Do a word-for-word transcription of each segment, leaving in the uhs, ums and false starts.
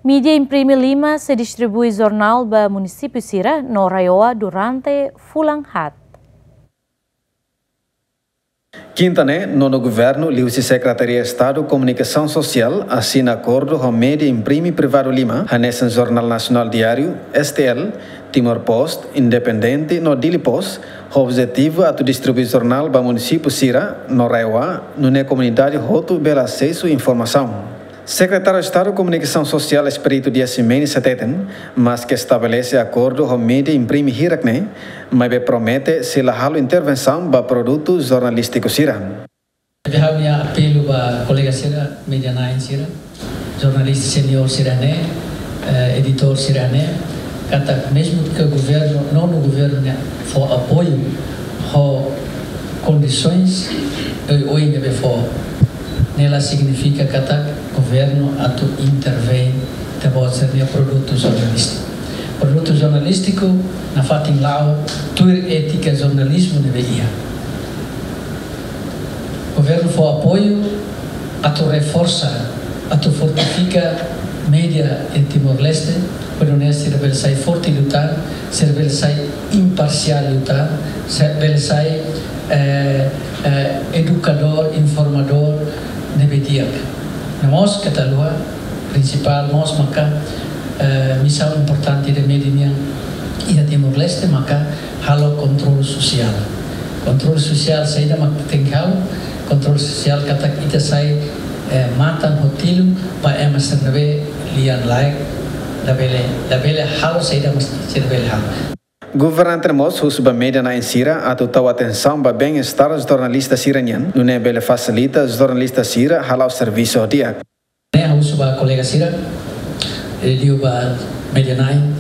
Mídia imprime lima sei distribui jornál ba munisípiu sira no RAEOA durante fulan haat. Kinta ne'e, nonu governu liuhusi Sekretaria Estadu Komunikasaun Sosiál asina akordu ho mídia imprime privadu lima, hanesan Jornál Nasionál Diáriu, S T L, Timor Post, Independente no Dili Post, ho objetivu atu distribui jornál ba munisípiu sira no RAEOA, nune'e komunidade hotu bele asesu informasaun. Sekretáriu Estadu Komunikasaun Sosiál Expedito Dias Ximenes hateten, maske estabelese akordu ho mídia imprime hirak ne'e, maibé promete sei la halo intervensaun ba produtu jornalístiku sira. Ne'ebé ha'u-nia apelu ba kolega sira, mídia na'in sira, jornalista seniór sira ne'e, eh, editór sira ne'e, katak mezmu ke governu, nonu governu ne'e fó apoiu ho kondisoens oioin ne'ebé fó, ne'e la signifika katak governu atu intervein ita-boot sira-nia produtu jornalístiku. Produtu jornalístiku nafatin la'o tuir étika jornalizmu ne'ebé iha. Governu fó apoiu atu reforsa, atu fortifika mídia iha Timor-Leste, para nune'e sira bele sai forte liután, sira bele sai imparsiál liután, sira bele sai, eh, eh, edukadór, informadór ne'ebé di'ak. No mós keta haluha, prinsipál mós maka, eh, misaun importante ida mídia nian iha Timor-Leste maka halo kontrolu sosiál. Kontrolu sosiál saida mak tenke halo? Kontrolu sosiál katak ita sai, eh, matan ho tilun ba ema sira ne'ebé lian-laek, labele, labele halo saida mak sira bele halo. Governante ne'e mós husu ba mídia na'in sira atu tau atensaun ba bem-estar jornalista sira nian, nune'e bele fasilita jornalista sira hala'o servisu ho di'ak. Ne'e ha'u husu ba kolega sira, eh, liuliu ba mídia na'in,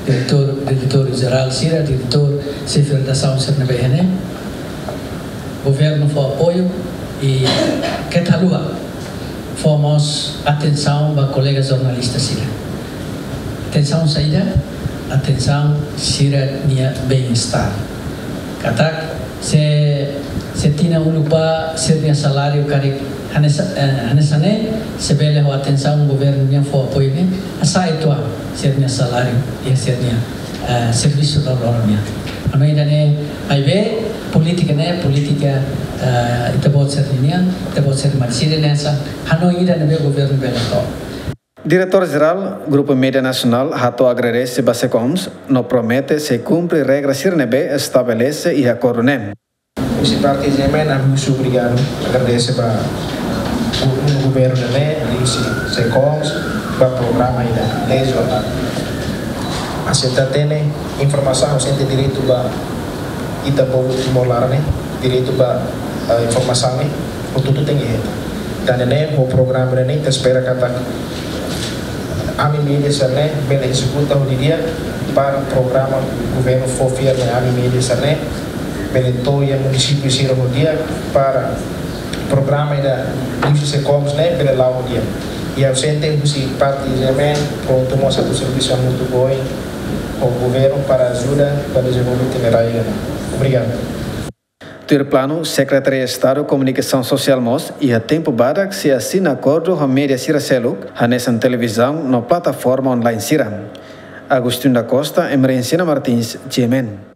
diretór, diretór jerál sira, diretór, xefe redasaun sira ne'ebé iha ne'e. Governu fó apoiu i keta haluha fó mós atensaun ba kolega jornalista sira. Atensaun saida? Atensaun sira-nia bem-estar. Katak se, se tinan uluk ba sira-nia saláriu karik hanesan, eh, hanesan ne'e, se bele ho atensaun governu nian fó apoiu ne'e, hasa'e uitoan sira-nia saláriu iha sira-nia, eh, servisu loroloron nian. Hanoin ida-ne'e, maibé polítika ne'e, polítika, eh, ita-boot sira-nian, ita-boot sira-nia marisida ne'e hanesan hanoin ida ne'ebé governu bele hato'o. Diretór Jerál Grupu Mídia Nasionál hato'o agradese ba SEKOMS, no promete sei kumpre regra sira ne'ebé estabelese iha akordu ne'e. Husi parte G M N, ami husu obrigadu, agradese ba gu-, governu ne'e, husi SEKOMS, ba programa ida, ne'e jornál. Aseita hatene informasaun, sente direitu ba ita povu Timor laran ne'e, direitu ba, eh, informasaun ne'e, hotu-hotu tenke hetan. Tan ne'e, ho programa ne'e, ita espera katak ami mídia sira ne'e bele ezekuta ho di'ak para programa governu fó fiar mai ami mídia sira ne'e bele to'o iha munisípiu sira ho di'ak para programa ida husi SEKOMS ne'e bele la'o ho di'ak. I ha'u sente husi parte G M N prontu mós atu servisu hamutuk ho governu para ajuda ba dezenvolve ita-nia rai ne'e. Obrigadu. Tuir planu, Sekretaria Estadu Komunikasaun Sosiál mós iha tempu badak sei asina akordu ho mídia sira seluk, hanesan televizaun no plataforma online sira. Agostinho da Costa, Emerenciana Martins, G M N.